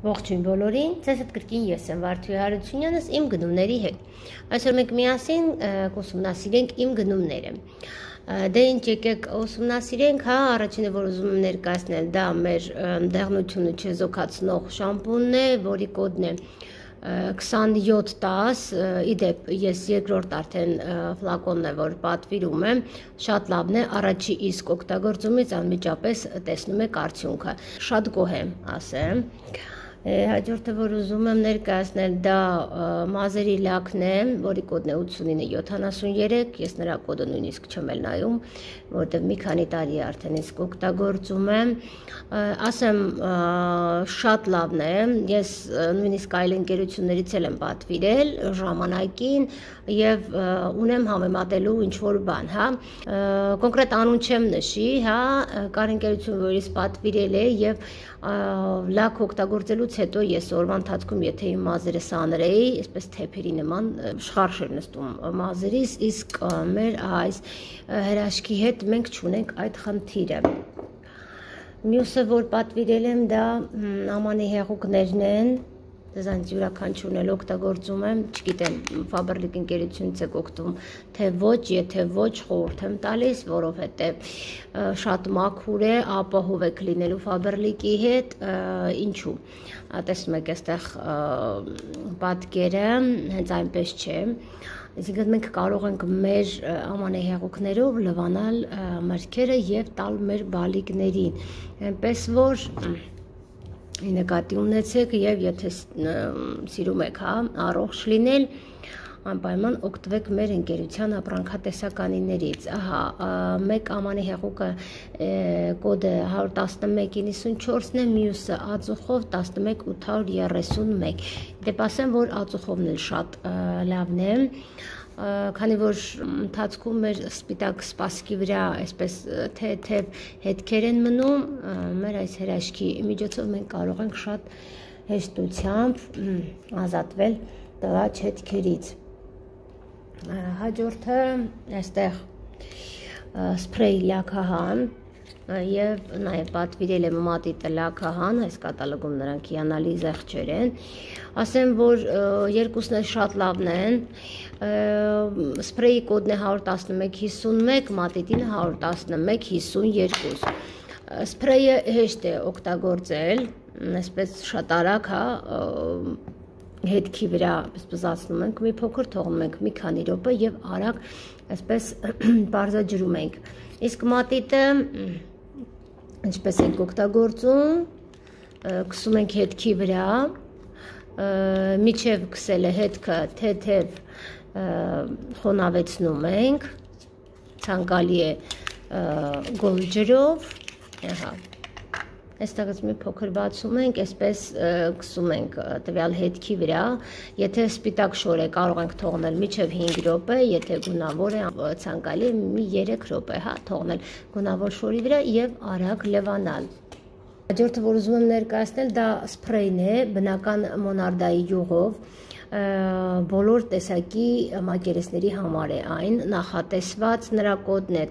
Ողջույն բոլորին, ձեզ հետ կրկին ես եմ Վարդուհի Հարությունյանս իմ գնումների հետ։ Այսօր մենք միասին կուսումնասիրենք իմ գնումները։ Դե ինչ եկեք ուսումնասիրենք, հա, առաջինը որ ուզում եմ ներկայացնել, դա մեր դեղնությունը չեզոքացնող շամպունն է, որի կոդն է 2710, իդեպ ես երկրորդ արդեն ֆլակոնն է, որ պատվիրում եմ, շատ լավն է, առաջի իսկ օգտագործումից անմիջապես տեսնում եք արդյունքը, շատ գոհ եմ, ասեմ։ Հաջորդը որ ուզում եմ ներկայացնել, դա մազերի լաքն է, որի կոդն է 8973, ես նրա կոդը նույնիսկ չեմ էլ նայում, որտեղ մի քանի տարի արդեն իսկ օգտագործում եմ, ասեմ շատ լավն է, ես նույնիսկ այլ ընկերություններից էլ եմ պատվիրել ժամանակին եւ ունեմ համեմատելու ինչ-որ բան, հա, կոնկրետ անուն չեմ նշի, հա, կար ընկերություն, որից պատվիրել է եւ լաք օգտագործելուց հետո ես օրվա ընթացքում եթե իմ մազերը սանրեի, այսպես թեփերի նման շխարշ էր նստում մազերիս, իսկ մեր այս հրաշքի հետ մենք չունենք այդ խնդիրը։ Մյուսը որ պատվիրել եմ, դա ամանի հեղուկներն են, դրանց յուրաքանչյուրն էլ օգտագործում եմ, չգիտեմ Faberlic ընկերությունից եք օգտվում, թե ոչ, եթե ոչ խորհուրդ եմ տալիս, որովհետև շատ մաքուր է, ապահով եք լինելու Faberlic-ի հետ, ինչու։ Տեսնում եք այստեղ պատկերը, հենց այնպես չէ։ Այսինքն մենք կարող ենք մեր ամանի հեղուկներով լվանալ մրգերը եւ տալ մեր բալիկներին, այնպես որ նկատի ունեցեք եւ եթե սիրում եք, հա, առողջ լինել, անպայման օգտվեք մեր ընկերության ապրանքատեսականիներից։ Ահա, մեկ ամանի հեղուկը կոդը 11194-ն է, մյուսը ածուխով 11831։ Դեպ ասեմ, որ ածուխովն էլ շատ լավն է, քանի որ ընթացքում մեր սպիտակ սպասքի վրա այսպես թեթև հետքեր են մնում, մեր այս հրաշքի միջոցով մենք կարող ենք շատ հեշտությամբ ազատվել տղաչ հետքերից։ Հաջորդը այստեղ սպրեյ լաքահան եւ նաեւ պատվիրել եմ մատիտը լաքահան, այս կատալոգում նրանք հիանալի զեղչեր են, ասեմ որ երկուսն էլ շատ լավն են, սպրեյի կոդն է 11151, մատիտին 11152, սպրեյը հեշտ է օգտագործել, այսպես շատ արագ, հա, հետքի վրա բզբզացնում ենք մի փոքր, թողնում ենք մի քանի րոպե եւ արագ այսպես բարձրաջրում ենք, իսկ մատիտը ինչպես ենք օգտագործում, քսում ենք հետքի վրա, միջև քսելը հետքը թեթև խոնավեցնում ենք, ցանկալի է գոլ ջրով, ահա, այստեղից մի փոքր բացում ենք, այսպես քսում ենք տվյալ հետքի վրա, եթե սպիտակ շոր է կարող ենք թողնել միջև 5 րոպե, եթե գունավոր է ցանկալի մի 3 րոպե, հա, թողնել գունավոր շորի վրա եւ արագ լվանալ։ Հաջորդը որ ուզում եմ ներկայացնել, դա սպրեյն է, բնական մոնարդայի յուղով, բոլոր տեսակի մակերեսների համար է այն, նախատեսված, նրա կոդն է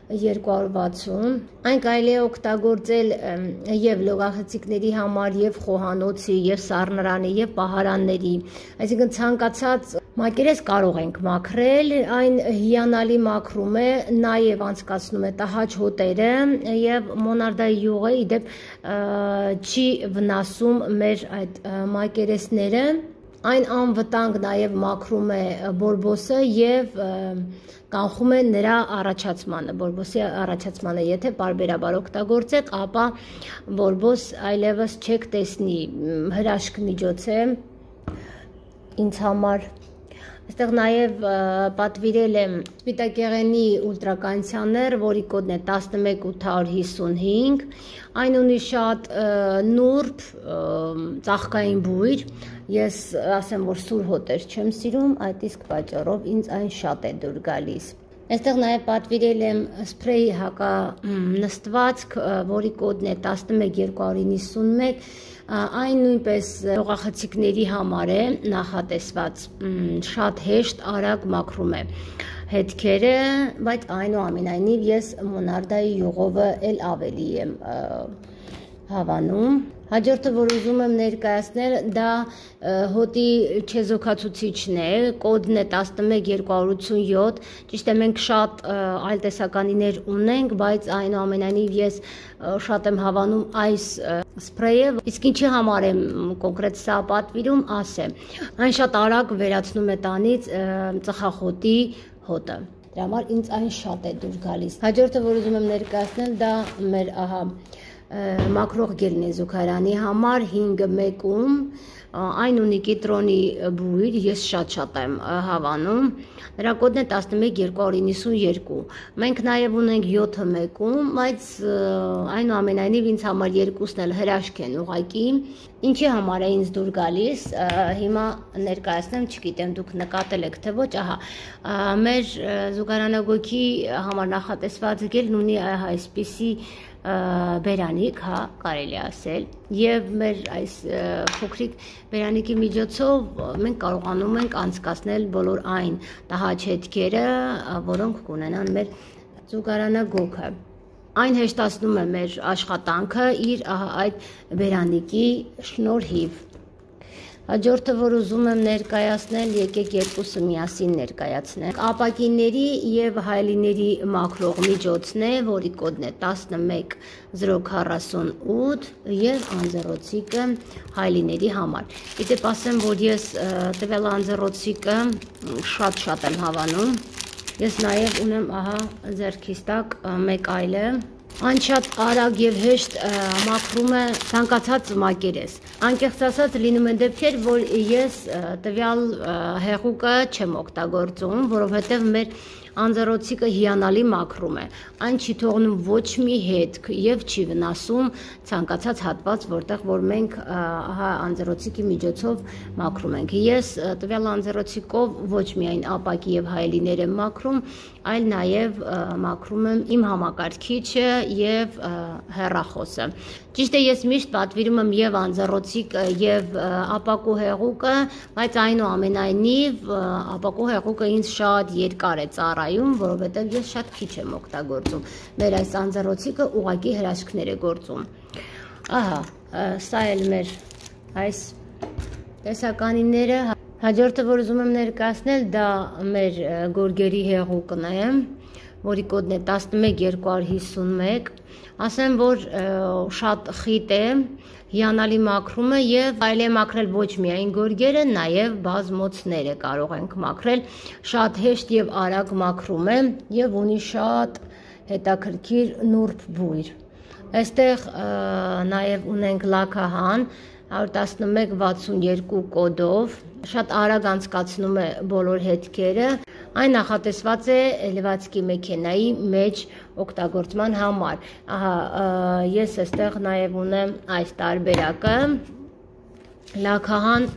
11260, այն կարելի է օգտագործել եւ լողախցիկների համար, եւ խոհանոցի, եւ սառնարանի, եւ պահարանների, այսինքն ցանկացած մակերես կարող ենք մաքրել, այն հիանալի մաքրում է, նաեւ անցկացնում է տհաճ հոտերը եւ մոնարդայի յուղը իդեպ չի վնասում մեր այդ մակերեսները, այն անվտանգ նաև մաքրում է բորբոսը եւ կանխում է նրա առաջացմանը, բորբոսի առաջացմանը, եթե պարբերաբար օգտագործեք, ապա բորբոս այլևս չեք տեսնի, հրաշք միջոց է ինձ համար։ Այստեղ նաև պատվիրել եմ սպիտակեղենի ուլտրականդիցիոներ, որի կոդն է 11855, այն ունի շատ նուրբ ծաղկային բույր, ես ասեմ, որ սուր հոտեր չեմ սիրում, այդ իսկ պատճառով ինձ այն շատ է դուր գալիս։ Այստեղ նաև պատվիրել եմ սպրեյ հականստվածք, որի կոդն է 11291, այն նույնպես լողախցիկների համար է նախատեսված, շատ հեշտ արագ մաքրում է հետքերը, բայց այնուամենայնիվ ես մոնարդայի յուղովը էլ ավելի եմ հավանում։ Հաջորդը, որ ուզում եմ ներկայացնել, դա հոտի չեզոքացուցիչն է, կոդն է 11287, ճիշտ է մենք շատ այլ տեսականիներ ունենք, բայց այնուամենայնիվ ես շատ եմ հավանում այս սպրեյը, իսկ ինչի համար եմ կոնկրետ սա պատվիրում, ասեմ, այն շատ արագ վերացնում է տանից ծխախոտի հոտը, դրա համար ինձ այն շատ է դուր գալիս։ Հաջորդը, որ ուզում եմ ներկայացնել, դա մեր մաքրող գելն է զուգարանի համար 5-1-ում, այն ունի կիտրոնի բույր, ես շատ եմ հավանում, նրա կոդն է 11292, մենք նաև ունենք 7-1-ում, բայց այնուամենայնիվ ինձ համար երկուսն էլ հրաշք են ուղղակի, ինչի համար է ինձ դուր գալիս, հիմա ներկայացնեմ, չգիտեմ դուք նկատել եք թե ոչ, մեր զուգարանագույքի համար նախատեսված գելն ունի այսպիսի բերանիկ, կարելի ասել, եւ մեր այս փոքրիկ բերանիկի միջոցով մենք կարողանում ենք անցկացնել բոլոր այն տհաճ որոնք կունենան մեր զուգարանագույքը։ Այն հեշտացնում է մեր աշխատանքը իր այդ բերանիկի շնորհիվ։ Հաջորդը, որ ուզում եմ ներկայացնել, եկեք երկուսը միասին ներկայացնենք։ Ապակիների եւ հայելիների մաքրող միջոցն է, որի կոդն է 11048 եւ անձեռոցիկը հայելիների համար։ Իդեպ ասեմ, որ ես տվյալ անձեռոցիկը շատ եմ հավանում։ Ես նաեւ ունեմ, ձեռքիս տակ մեկ այլը։ Այն շատ արագ եւ հեշտ մաքրում է ցանկացած մակերես։ Անկեղծ ասած լինում են դեպքեր, որ ես տվյալ հեղուկը չեմ օգտագործում, որովհետեւ մեր անձեռոցիկը հիանալի մաքրում է։ Այն չի թողնում ոչ մի հետք եւ չի վնասում ցանկացած հատված, որտեղ որ մենք անձեռոցիկի միջոցով մաքրում ենք։ Ես տվյալ անձեռոցիկով ոչ միայն ապակի եւ հայելիներ եմ մաքրում, այլ նաեւ մաքրում եմ իմ համակարգիչը եւ հեռախոսը։ Ճիշտ է, ես միշտ պատվիրում եմ եւ անձեռոցիկը եւ ապակու հեղուկը, բայց այնուամենայնիվ ապակու հեղուկը ինձ շատ երկար է ծառայում, որովհետեւ ես շատ քիչ եմ օգտագործում։ Մեր այս անձեռոցիկը ուղղակի հրաշքներ է գործում։ Սա էլ մեր այս տեսականիները։ Հաջորդը, որ ուզում եմ ներկայացնել, դա մեր գորգերի հեղուկն է, որի կոդն է 11251, ասեմ, որ շատ խիտ է, հիանալի մաքրում է եւ այլ է մաքրել ոչ միայն գորգերը, նաեւ բազմոցները կարող ենք մաքրել, շատ հեշտ եւ արագ մաքրում է եւ ունի շատ հետաքրքիր նուրբ բույր։ Այստեղ նաեւ ունենք լաքահան 11162 կոդով, շատ արագ անցկացնում է բոլոր հետքերը, այն նախատեսված է լվացքի մեքենայի մեջ օգտագործման համար։ Ես այստեղ նաև ունեմ այս տարբերակը, լաքահան,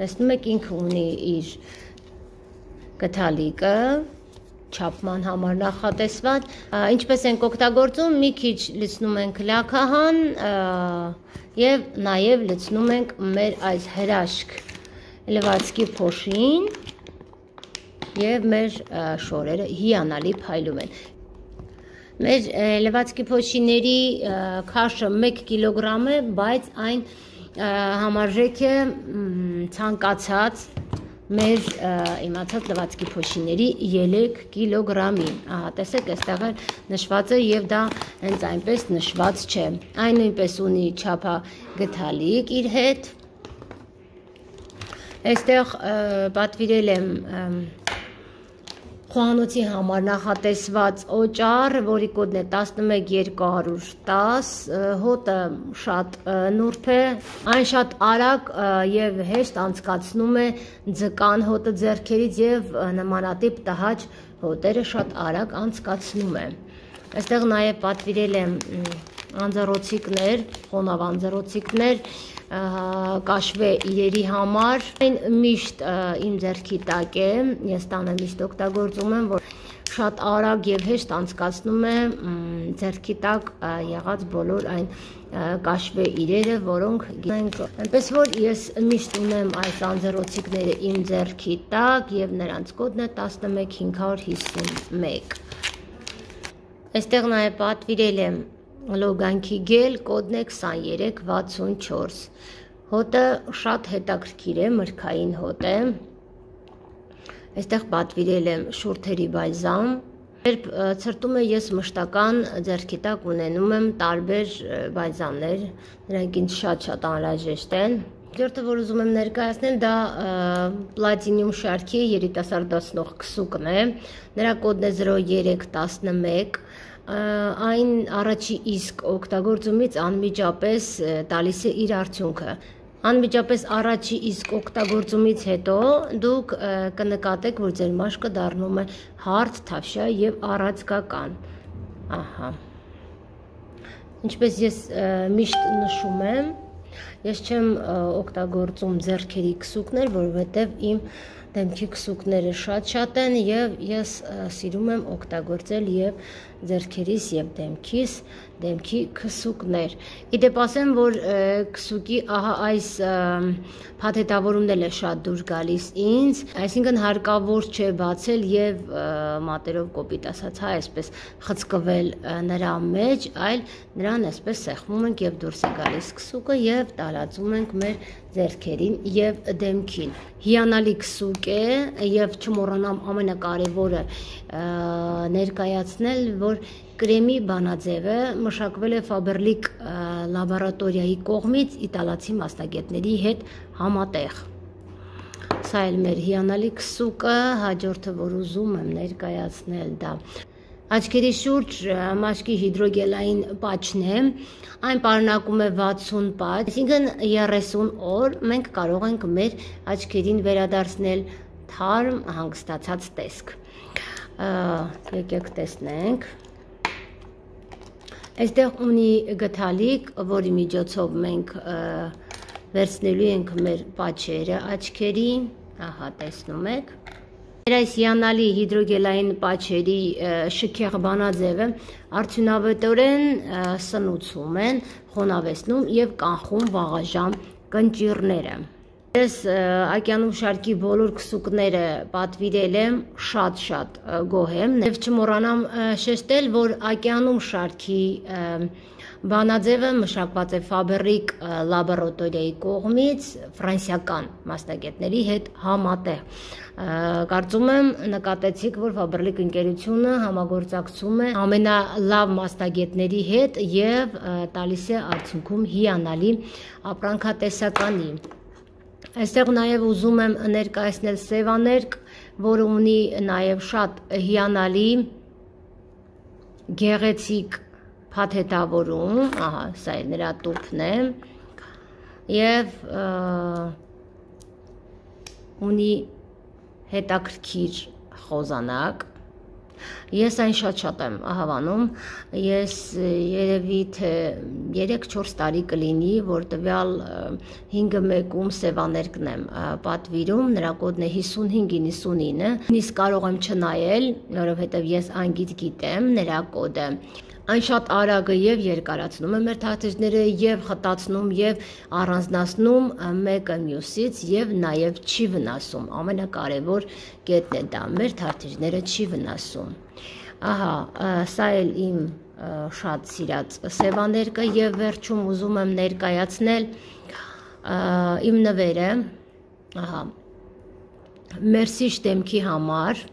տեսնում եք ինքը ունի իր գդալիկը, չափման համար նախատեսված, ինչպես ենք օգտագործում, մի քիչ լցնում ենք լաքահան եւ նաեւ լցնում ենք մեր այս հրաշք լվացքի փոշին եւ մեր շորերը հիանալի փայլում են։ Մեր լվացքի փոշիների քաշը 1 կիլոգրամ է, բայց այն համարժեք է ցանկացած մեր իմացած լվացքի փոշիների 3 կիլոգրամին։ Տեսեք, այստեղ էլ նշված է եւ դա հենց այնպես նշված չէ։ Այն նույնպես ունի չափագթալիկ իր հետ։ Այստեղ պատվիրել եմ խոհանոցի համար նախատեսված օճառ, որի կոդն է 11210, հոտը շատ նուրբ է, այն շատ արագ եւ հեշտ անցկացնում է ձկան հոտը ձեռքերից եւ նմանատիպ տհաճ հոտերը շատ արագ անցկացնում է։ Այստեղ նաեւ պատվիրել եմ անձեռոցիկներ, խոնավ անձեռոցիկներ, կաշվե իրերի համար, այն միշտ իմ ձեռքի տակ է, ես տանը միշտ օգտագործում եմ, որ շատ արագ եւ հեշտ անցկացնում է ձեռքի տակ եղած բոլոր այն կաշվե իրերը, որոնք գնենք, այնպես որ ես միշտ ունեմ այս անձեռոցիկները իմ ձեռքի տակ եւ նրանց կոդն է 11551։ Այստեղ նաև պատվիրել եմ լոգանքի գել, կոդն է 2364։ Հոտը շատ հետաքրքիր է, մրգային հոտ է։ Այստեղ պատվիրել եմ շուրթերի բալզամ։ Երբ ցրտում եմ, ես մշտական ձեռքի տակ ունենում եմ տարբեր բալզամներ, նրանք ինձ շատ անհրաժեշտ են։ Երկրորդը, որ ուզում եմ ներկայացնել, դա պլատինիում շարքի երիտասարդացնող քսուկն է։ Նրա կոդն է 0311։ Այն առաջի իսկ օգտագործումից անմիջապես տալիս է իր արդյունքը։ Անմիջապես առաջի իսկ օգտագործումից հետո դուք կնկատեք, որ ձեր մաշկը դառնում է հարթ, թավշյա եւ առածկական։ Ահա։ Ինչպես ես միշտ նշում եմ, ես չեմ օգտագործում ձեռքերի քսուկներ, որովհետեւ իմ դեմքի քսուկները շատ են եւ ես սիրում եմ օգտագործել եւ ձեռքերիս եւ դեմքի քսուկներ։ Իդեպ ասեմ, որ քսուկի ահա այս փաթեթավորումն էլ է շատ դուր գալիս ինձ, այսինքն հարկավոր չէ բացել եւ մատերով կոպիտ ասած, այսպես խցկվել նրա մեջ, այլ նրան այսպես սեղմում ենք եւ դուրս է գալիս քսուկը եւ տարածում ենք մեր ձեռքերին եւ դեմքին։ Հիանալի քսուկ է եւ չմոռանամ ամենակարևորը ներկայացնել, որ կրեմի բանաձևը մշակվել է Faberlic լաբորատորիայի կողմից իտալացի մասնագետների հետ համատեղ։ Սա էլ մեր հիանալի քսուկը, հաջորդը, որ ուզում եմ ներկայացնել, դա աչքերի շուրջ մաշկի հիդրոգելային պաչն է, այն պարունակում է 60 պաչ, այսինքն 30 օր մենք կարող ենք մեր աչքերին վերադարձնել թարմ հանգստացած տեսք։ Եկեք տեսնենք։ Այստեղ ունի գդալիկ, որի միջոցով մենք վերցնելու ենք մեր պաչերը աչքերի, ահա տեսնում եք։ Այս հիանալի հիդրոգելային պաչերի շքեղ բանաձևը արդյունավետորեն սնուցում են, խոնավեցնում եւ կանխում վաղաժամ կնճիռները։ Ես ակյանում շարքի բոլոր քսուկները պատվիրել եմ, շատ գոհ եմ եւ չմոռանամ շեշտել, որ ակյանում շարքի բանաձևը մշակված է Faberlic լաբորատորիայի կողմից ֆրանսիական մասնագետների հետ համատեղ։ Կարծում եմ նկատեցիք, որ Faberlic ընկերությունը համագործակցում է ամենալավ մասնագետների հետ եւ տալիս է արդյունքում հիանալի ապրանքատեսականի։ Այստեղ նաև ուզում եմ ներկայացնել սևաներկ, որը ունի նաև շատ հիանալի գեղեցիկ փաթեթավորում, ահա, սա է նրա տուփն է, եւ ունի հետաքրքիր խոզանակ։ Ես այն շատ եմ հավանում, ես երևի թե 3-4 տարի կլինի, որ տվյալ 5-1-ում սևաներկն եմ պատվիրում, նրա կոդն է 5599, նույնիսկ կարող եմ չնայել, որովհետև ես անգիտ գիտեմ նրա կոդը։ Այն շատ արագ է եւ երկարացնում է մեր թաթիժները եւ խտացնում եւ առանձնացնում մեկը մյուսից եւ նաեւ չի վնասում։ Ամենակարևոր կետն է դա, մեր թաթիժները չի վնասում։ Ահա, սա էլ իմ շատ սիրած սևաներկը եւ վերջում ուզում եմ ներկայացնել իմ նվերը, ահա, Մերսիշ դեմքի համար։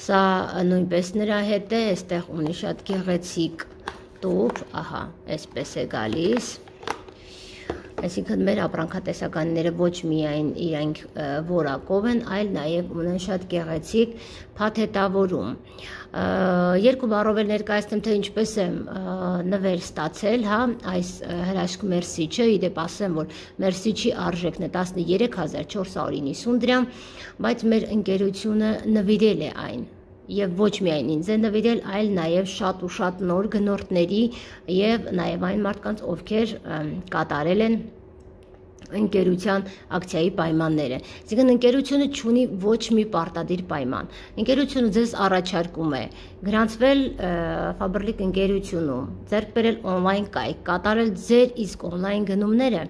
Սա նույնպես նրա հետ է, այստեղ ունի շատ գեղեցիկ տուփ, ահա, այսպես է գալիս։ Այսինքն մեր ապրանքատեսականները ոչ միայն իրենք որակով են, այլ նաև ունեն շատ գեղեցիկ փաթեթավորում։ Երկու բառով էլ ներկայացնեմ, թե ինչպես եմ նվեր ստացել, հա, այս հրաշք Մերսիչը, իդեպ ասեմ, որ Մերսիչի արժեքն է 13490 դրամ, բայց մեր ընկերությունը նվիրել է այն։ Եվ ոչ միայն ինձ է նվիրել, այլ նաև շատ ու շատ նոր գնորդների եւ նաև այն մարդկանց, ովքեր կատարել են ընկերության ակցիայի պայմանները։ Այսինքն ընկերությունը չունի ոչ մի պարտադիր պայման։ Ընկերությունը ձեզ առաջարկում է գրանցվել Faberlic ընկերությունում, ձեռք բերել on-line կայք, կատարել ձեր իսկ on-line գնումները,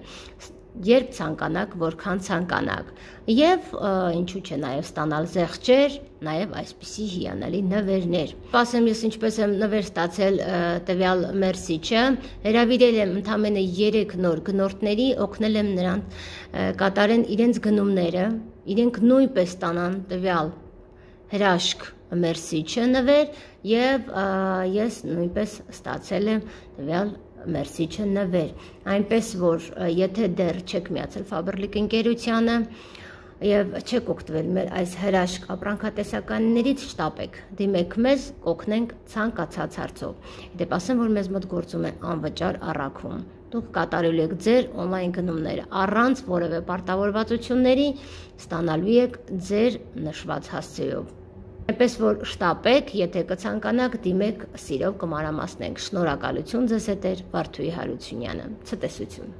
երբ ցանկանաք, որքան ցանկանաք, եւ ինչու՞ չէ նաեւ ստանալ զեղչեր, նաեւ այսպիսի հիանալի նվերներ։ Ասեմ ես ինչպես եմ նվեր ստացել տվյալ մերսիչը, հրավիրել եմ ընդամենը 3 նոր գնորդների, օգնել եմ նրանց կատարեն իրենց գնումները, իրենք նույնպես ստանան տվյալ հրաշք մերսիչը նվեր եւ ես նույնպես ստացել եմ տվյալ մերսիչը նվեր, այնպես որ եթե դեռ չեք միացել Faberlic ընկերությանը եւ չեք օգտվել մեր այս հրաշք ապրանքատեսականներից, շտապեք, դիմեք մեզ, կօգնենք ցանկացած հարցով։ Դեպ ասեմ, որ մեզ մոտ գործում է անվճար առաքում։ Դուք կատարելու եք ձեր օնլայն գնումները առանց որևէ պարտավորվածությունների, ստանալու եք ձեր նշված հասցեով։ Այնպես որ շտապեք, եթե կցանկանաք, դիմեք, սիրով կմանրամասնենք։ Շնորհակալություն ձեզ հետ էր Վարդուհի Հարությունյանը։ Ցտեսություն։